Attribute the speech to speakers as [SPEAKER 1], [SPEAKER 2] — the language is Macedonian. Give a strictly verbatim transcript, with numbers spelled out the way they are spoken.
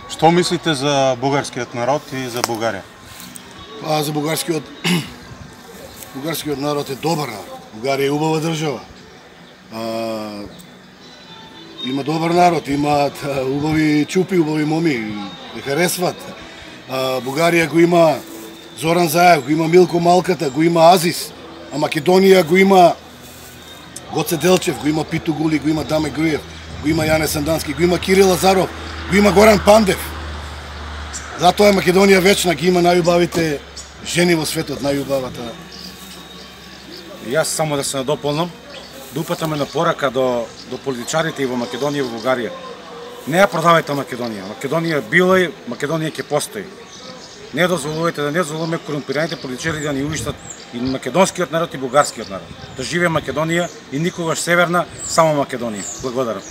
[SPEAKER 1] Што мислите за бугарскиот народ и за Бугарија?
[SPEAKER 2] Па за бугарскиот бугарскиот народ е добар народ. Бугарија е убава држава. А, има добар народ, имаат убави чупи, убави моми, ја харесват. А, Бугарија го има Зоран Заев, го има Милко Малката, го има Азис, а Македонија го има Гоце Делчев, го има Питу Гули, го има Даме Груев, го има Јане Сандански, го има Кирил Лазаров, го има Горан Пандев. Затоа е Македонија вечна, ги има најубавите жени во светот, најубавата.
[SPEAKER 3] Јас само да се надополнам, да упатаме на порака до, до политичарите и во Македонија и во Бугарија. Не ја продавајте Македонија. Македонија била и Македонија ќе постои. Не дозволувате да не дозволуваме корумпираните политичари да ни уништат и македонскиот народ и бугарскиот народ. Да живее Македонија и никогаш северна, само Македонија. Благодарам.